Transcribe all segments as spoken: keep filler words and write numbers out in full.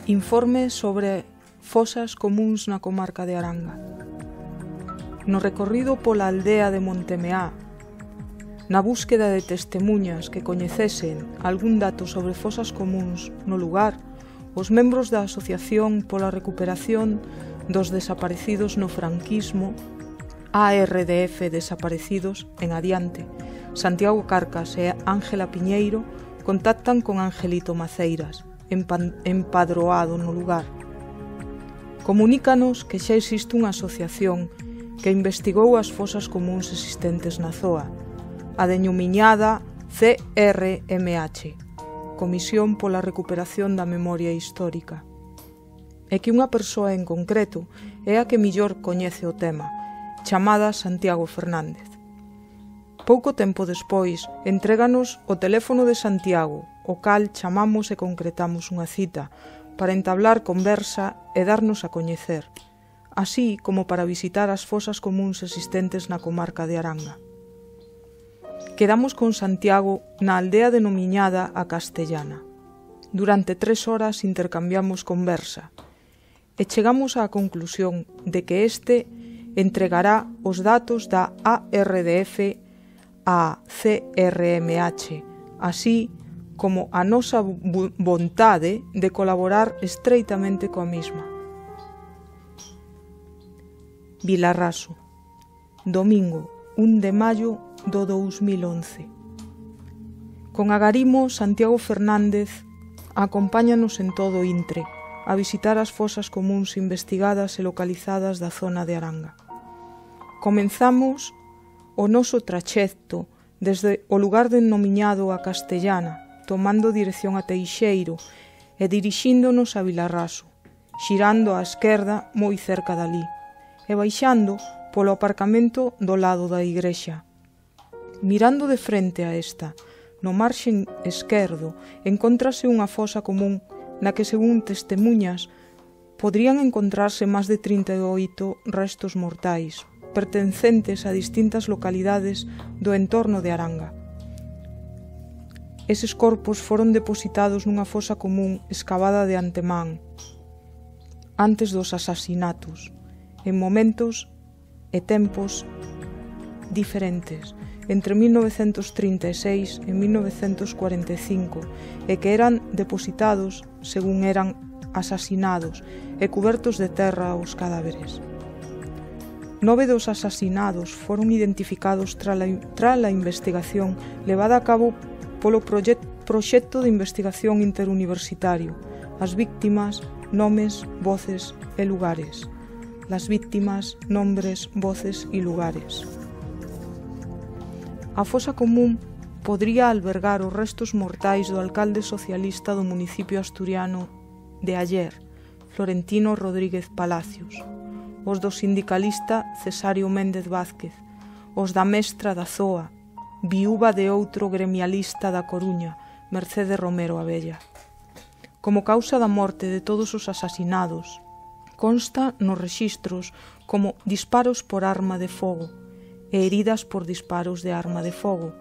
Informe sobre fosas comúns na comarca de Aranga. No recorrido pola aldea de Montemeá, na búsqueda de testemuñas que coñecesen algún dato sobre fosas comúns no lugar, os membros da Asociación pola Recuperación dos Desaparecidos no Franquismo, A R D F Desaparecidos en Adiante, Santiago Carcas e Ángela Piñeiro contactan con Angelito Maceiras, empadroado no lugar. Comunícanos que xa existe unha asociación que investigou as fosas comúns existentes na zoa, a denominada C R M H, Comisión pola Recuperación da Memoria Histórica, e que unha persoa en concreto é a que millor coñece o tema, chamada Santiago Fernández. Pouco tempo despois, entréganos o teléfono de Santiago, o cal chamamos e concretamos unha cita para entablar conversa e darnos a coñecer, así como para visitar as fosas comúns existentes na comarca de Aranga. Quedamos con Santiago na aldea denominada A Castellana. Durante tres horas intercambiamos conversa e chegamos á conclusión de que este entregará os datos da A R D F a C R M H, así como a nosa vontade de colaborar estreitamente coa mesma. Vilarraso, domingo un de maio do dous mil once. Con agarimo, Santiago Fernández acompáñanos en todo o intre a visitar as fosas comúns investigadas e localizadas da zona de Aranga. Comenzamos o noso traxecto desde o lugar denominado A Castellana, tomando dirección a Teixeiro e dirixíndonos a Vilarraso, xirando á esquerda moi cerca dali, e baixando polo aparcamento do lado da igrexa. Mirando de frente a esta, no marxen esquerdo, encóntrase unha fosa común na que, según testemuñas, podrían encontrarse máis de trinta e oito restos mortais, pertencentes a distintas localidades do entorno de Aranga. Eses corpos foron depositados nunha fosa común escavada de antemán, antes dos asasinatos, en momentos e tempos diferentes, entre mil novecentos trinta e seis e mil novecentos cuarenta e cinco, e que eran depositados según eran asasinados e cubertos de terra os cadáveres. Nove dos asasinados foron identificados trala a investigación levada a cabo polo proxecto de investigación interuniversitario, as víctimas, nomes, voces e lugares. Las víctimas, nombres, voces e lugares. A fosa común podría albergar os restos mortais do alcalde socialista do municipio asturiano de Aller, Florentino Rodríguez Palacios, os do sindicalista Cesario Méndez Vázquez, os da mestra da Zoa, viúva de outro gremialista da Coruña, Mercedes Romero Abella. Como causa da morte de todos os asasinados, consta nos rexistros como disparos por arma de fogo e heridas por disparos de arma de fogo.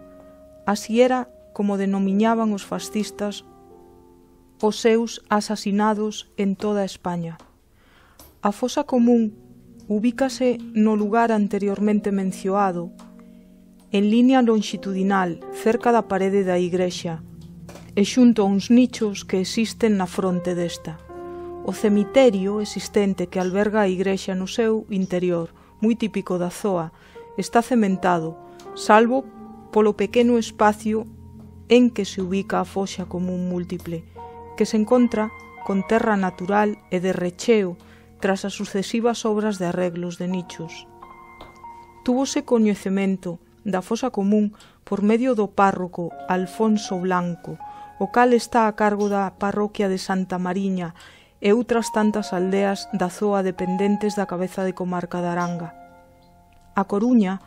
Así era como denominaban os fascistas os seus asasinados en toda España. A fosa común ubícase no lugar anteriormente mencionado, en línea longitudinal, cerca da parede da igrexa, e xunto a uns nichos que existen na fronte desta. O cemiterio existente que alberga a igrexa no seu interior, moi típico da zoa, está cementado, salvo polo pequeno espacio en que se ubica a foxa común múltiple, que se encontra con terra natural e de recheo tras as sucesivas obras de arreglos de nichos. Túvose coñecemento da fosa común por medio do párroco Alfonso Blanco, o cal está a cargo da parroquia de Santa Mariña e outras tantas aldeas da zoa dependentes da cabeza de comarca de Aranga. A Coruña,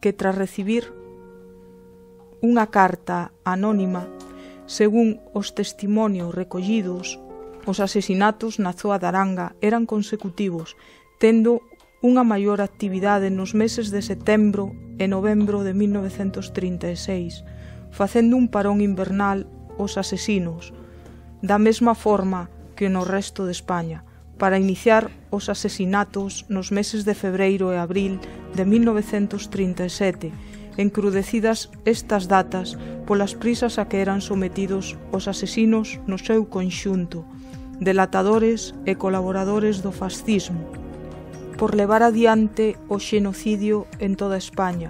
que tras recibir unha carta anónima, según os testimonios recollidos, os asesinatos na zoa de Aranga eran consecutivos, tendo unha maior actividade nos meses de setembro e novembro de mil novecentos trinta e seis, facendo un parón invernal os asesinos. Da mesma forma, que no resto de España, para iniciar os asesinatos nos meses de febreiro e abril de mil novecentos trinta e sete, encrudecidas estas datas polas prisas a que eran sometidos os asesinos no seu conxunto, delatadores e colaboradores do fascismo, por levar adiante o xenocidio en toda España.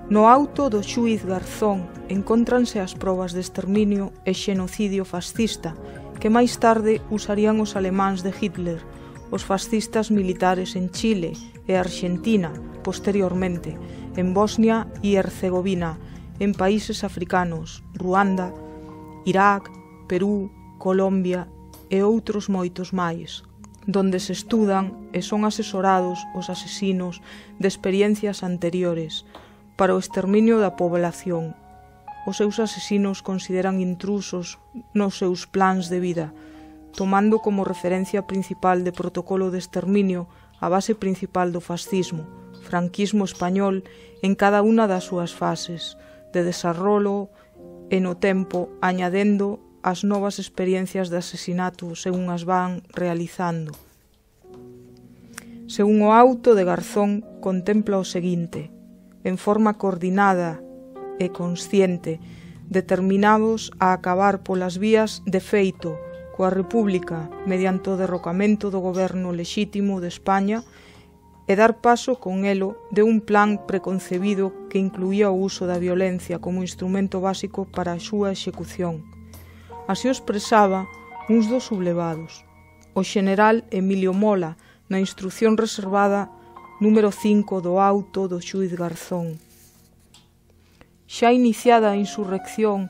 No auto do xuíz Garzón encóntranse as probas de exterminio e xenocidio fascista que máis tarde usarían os alemáns de Hitler, os fascistas militares en Chile e Argentina, posteriormente, en Bosnia e Herzegovina, en países africanos, Ruanda, Irak, Perú, Colombia e outros moitos máis, donde se estudan e son asesorados os asesinos de experiencias anteriores para o exterminio da población. Os seus asesinos consideran intrusos nos seus plans de vida, tomando como referencia principal de protocolo de exterminio a base principal do fascismo, franquismo español en cada unha das súas fases de desarrollo e no tempo añadendo as novas experiencias de asesinato según as van realizando. Según o auto de Garzón contempla o seguinte: en forma coordinada e consciente, determinados a acabar polas vías de feito coa República mediante o derrocamento do goberno lexítimo de España e dar paso con elo de un plan preconcebido que incluía o uso da violencia como instrumento básico para a súa execución. Así o expresaba uns dos sublevados, o xeneral Emilio Mola, na instrucción reservada número cinco do auto do xuíz Garzón. Xa iniciada a insurrección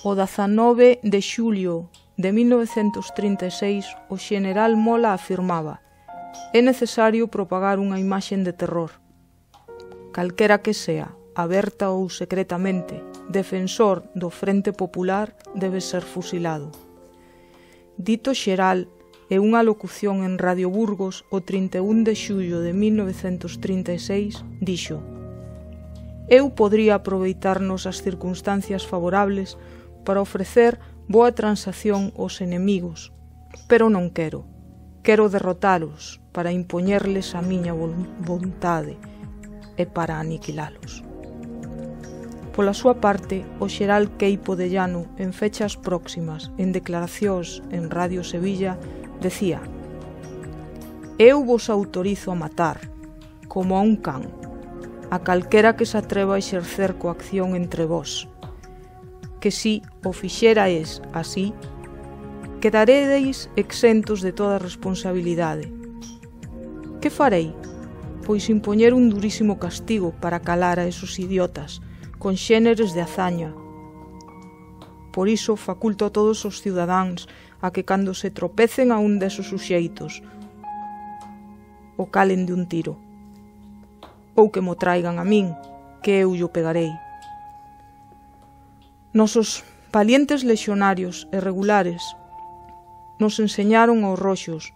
o dezanove de xulio de mil novecentos trinta e seis, o xeneral Mola afirmaba: é necesario propagar unha imaxe de terror. Calquera que sea, aberta ou secretamente, defensor do Frente Popular debe ser fusilado. Dito xeral é unha locución en Radio Burgos o trinta e un de xullo de mil novecentos trinta e seis, dixo: eu podría aproveitarnos as circunstancias favorables para ofrecer boa transacción aos enemigos, pero non quero. Quero derrotalos para impoñerles a miña vontade e para aniquilalos. Pola súa parte, o xeral Queipo de Llano, en fechas próximas, en declaracións en Radio Sevilla, decía: eu vos autorizo a matar, como a un can, a calquera que se atreva a exercer coacción entre vós, que si o fixerais así, quedaredes exentos de toda responsabilidade. Que farei? Pois impoñer un durísimo castigo para calar a esos idiotas, con xéneres de hazaña. Por iso faculto a todos os cidadáns a que cando se tropecen a un desos suxeitos o calen de un tiro, ou que mo traigan a min, que eu yo pegarei. Nosos valientes lexionarios e regulares nos enseñaron aos roxos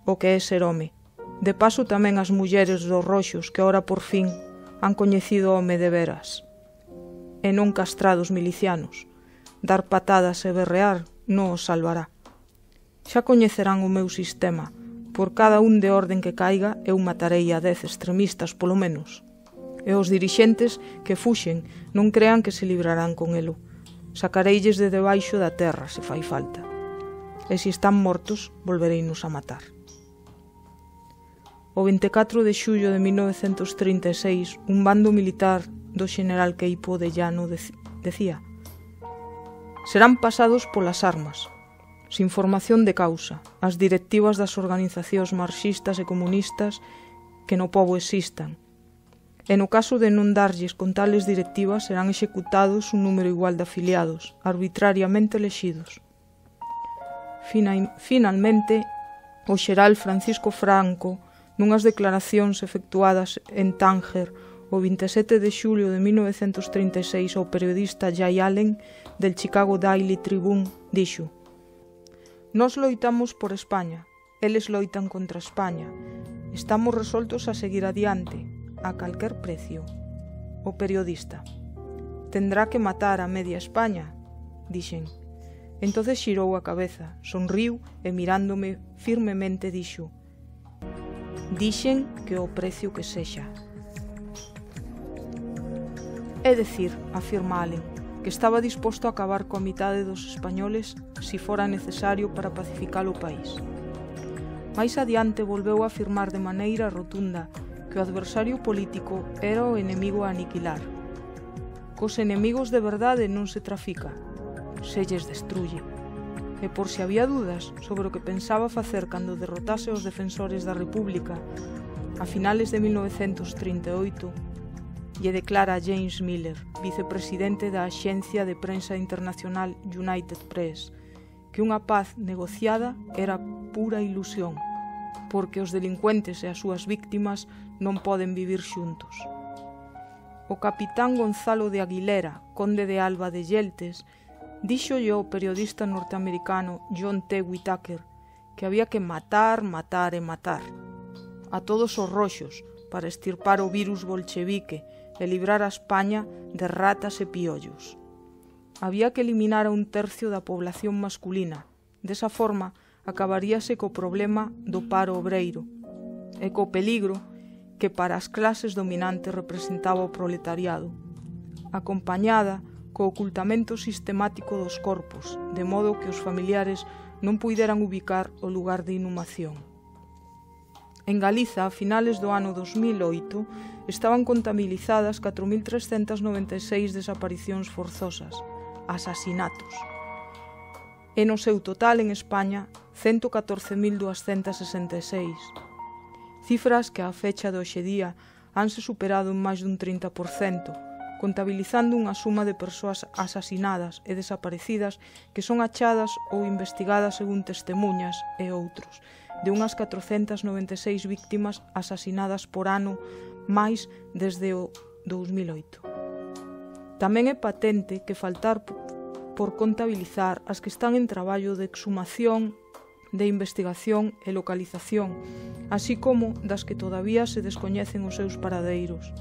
o que é ser home. De paso tamén as mulleres dos roxos que ora por fin han coñecido o home de veras, e non castrados milicianos. Dar patadas e berrear non os salvará. Xa coñecerán o meu sistema. Por cada un de orden que caiga, eu matarei a dez extremistas polo menos. E os dirixentes que fuxen non crean que se librarán con elo. Sacareilles de debaixo da terra, se fai falta. E se están mortos, volvereinos a matar. O vinte e catro de xullo de mil novecentos trinta e seis, un bando militar do xeneral Queipo de Llano decía: serán pasados polas armas, sin formación de causa, as directivas das organizacións marxistas e comunistas que no pobo existan. E no caso de non darlles con tales directivas, serán executados un número igual de afiliados, arbitrariamente elexidos. Finalmente, o xeral Francisco Franco, nunhas declaracións efectuadas en Tánger o vinte e sete de xulio de mil novecentos trinta e seis ao periodista Jay Allen del Chicago Daily Tribune, dixo: nos loitamos por España, eles loitan contra España, estamos resoltos a seguir adiante, a calquer precio. O periodista: tendrá que matar a media España, dixen. Entonces xirou a cabeza, sonriu e mirándome firmemente dixo: «Dixen que o precio que sexa». É dicir, afirma Allen, que estaba disposto a acabar coa mitade dos españoles si fora necesario para pacificar o país. Mais adiante volveu a afirmar de maneira rotunda que o adversario político era o enemigo a aniquilar. Cos enemigos de verdade non se trafica, se lles destruye. E por se había dudas sobre o que pensaba facer cando derrotase os defensores da República, a finales de mil novecentos trinta e oito, lle declara a James Miller, vicepresidente da Axencia de Prensa Internacional United Press, que unha paz negociada era pura ilusión, porque os delincuentes e as súas víctimas non poden vivir xuntos. O capitán Gonzalo de Aguilera, conde de Alba de Yeltes, díxolle ao periodista norteamericano John T. Whitaker que había que matar, matar e matar a todos os roxos para estirpar o virus bolchevique e librar a España de ratas e piollos. Había que eliminar a un tercio da población masculina. Desa forma, acabaríase co problema do paro obreiro e co peligro que para as clases dominantes representaba o proletariado, acompañada co ocultamento sistemático dos corpos, de modo que os familiares non puideran ubicar o lugar de inhumación. En Galiza, a finales do ano dos mil oito, estaban contabilizadas catro mil trescentas noventa e seis desaparicións forzosas, asasinatos. E no seu total en España, cento catorce mil duascentas sesenta e seis. Cifras que á fecha de hoxe día hanse superado en máis dun trinta por cento, contabilizando unha suma de persoas asasinadas e desaparecidas que son achadas ou investigadas según testemunhas e outros, de unhas catrocentas noventa e seis víctimas asasinadas por ano máis desde o dous mil oito. Tamén é patente que faltar por contabilizar as que están en traballo de exhumación, de investigación e localización, así como das que todavía se descoñecen os seus paradeiros.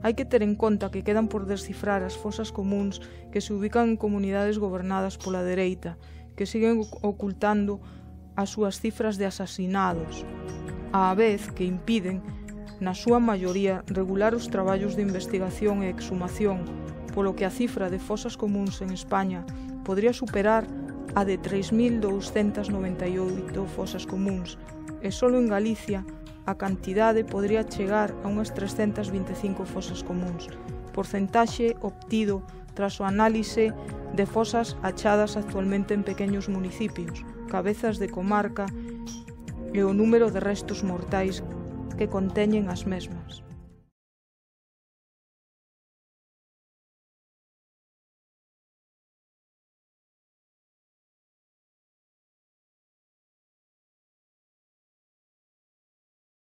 Hai que ter en conta que quedan por descifrar as fosas comuns que se ubican en comunidades gobernadas pola dereita, que siguen ocultando as súas cifras de asasinados, á vez que impiden, na súa maioría, regular os traballos de investigación e exhumación, polo que a cifra de fosas comuns en España podría superar a de tres mil douscentas noventa e oito fosas comuns, e só en Galicia a cantidade podría chegar a unhas trescentas vinte e cinco fosas comuns, porcentaxe obtido tras o análise de fosas achadas actualmente en pequeños municipios, cabezas de comarca e o número de restos mortais que conteñen as mesmas.